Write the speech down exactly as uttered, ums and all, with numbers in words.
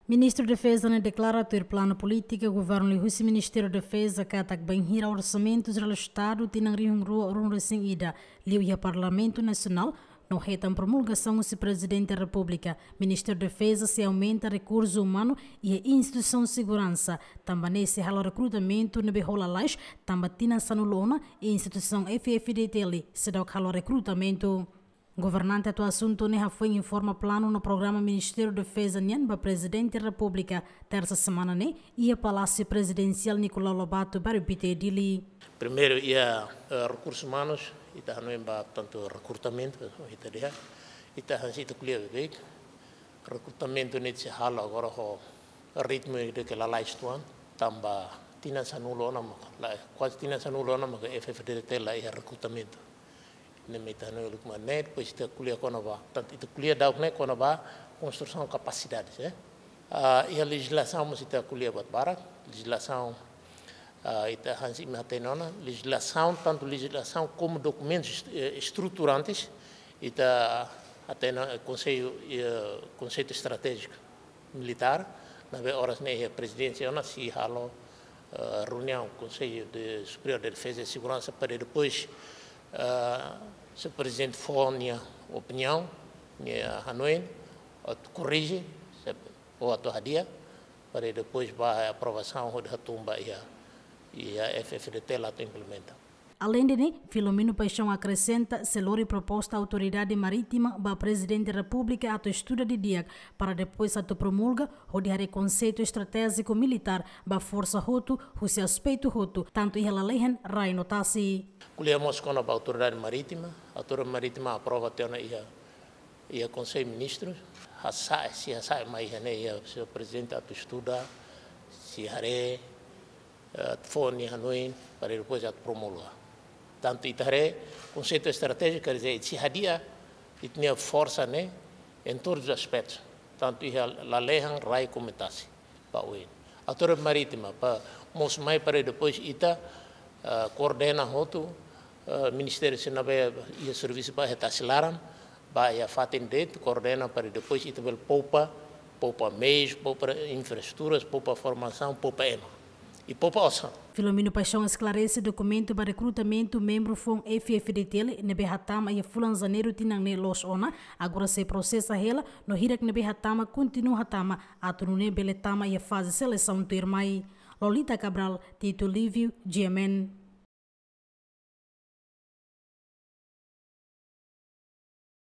Ministru Defeza ne'e deklara tuir planu polítika governu liuhusi Ministériu Defeza katak bainhira orsamentu jerál Estadu tinan rihun rua ruanulu-resin-ida liu iha Parlamentu Nasionál no hetan promulgasaun husi Prezidente Repúblika, Ministériu Defeza sei aumenta rekursu umanu iha instituisaun seguransa, tanba ne'e sei halo rekrutamentu ne'ebé hola lalais, tanba tinan sanulu ona instituisaun F-FDTL seidauk halo rekrutamentu. Governante atu asuntu ne'e hafoin informa planu no programa Ministériu Defeza nian ba Prezidente Repúblika, tersa semana ne'e, iha Palásiu Prezidensiál Nicolau Lobato, Bairru Pité, Dili. Primeiru, iha, eh, rekursus umanus, ita hanoin ba tantu rekrutamentu, ita dehan, ita hanesan ita ko'alia beibeik, rekrutamentu ne'e sei halo agora ho ritmu ida ke lalais uitoan, tanba tinan sanulu ona maka, la, kuaze tinan sanulu ona maka F-FDTL la iha rekrutamentu. Ne'e mak ita hanoin uluk mane, depois ita ko'alia kona-ba, tantu ita ko'alia daudauk ne'e kona-ba konstrusaun kapasidades, eh. Ah, iha lejizlasaun mós ita ko'alia buat barak, lejizlasaun, ah, ita hanesan imi hatene ona, lejizlasaun, tantu lejizlasaun komu dokumentus est-, eh, estruturantes, ita hatene, eh, konsellu, eh, konseitu estratéjiku militár, ne'ebé oras ne'e iha prezidénsia ona sei halo, eh, reuniaun Konsellu de Superiór de Defeza e Seguransa para depois, eh, se o prezidente fó nia opiniaun, nia hanoin, atu korrije, se, ou atu hadi'a, para depois ba aprovasaun hodi hatún ba iha, iha F-FDTL atu implementa. Aleinde ne'e, Filomeno Paixão akresenta, sei lori proposta Autoridade Marítima ba Prezidente Repúblika atu estuda didi'ak para depois atu promulga, hodi haree konseitu estratéjiku militár ba forsa hotu, husi aspetu hotu, tantu iha lalehan, rai no tasi. Ko'alia mós kona-ba Autoridade Marítima, Autoridade Marítima aprova tiha ona iha, iha Konsellu Ministrus, hasa'e, sei hasa'e mai iha ne'e, iha, se o prezidente atu estuda, sei haree, eh, fó nia hanoin, para depois atu promulga. Tantu ita haree, konseitu estratéjiku, quer dizer, sei hadi'a ita-nia forsa ne'e, em todos os aspectos, tanto iha lalehan, rai, komu tasi, ba oin. Autoridade Marítima, para mós mai para depois ita, eh, koordena hotu, eh, ministériu sira ne'ebé iha servisu ba iha tasi laran, ba iha fatin de'it, koordena para depois ita bele poupa, poupa meius, poupa infraestruturas, poupa formasaun, poupa ema. I poupa osan. Filomeno Paixão esklarese dokumentu ba rekrutamentu membru foun F-FDTL ne'ebé hatama iha fulan Janeiru tinan ne'e loos ona, agora sei prosesa hela, no hirak ne'ebé hatama kontinua hatama, atu nune'e bele tama iha faze selesaun tuirmai. Lolita Cabral, Tito Livio, G M N.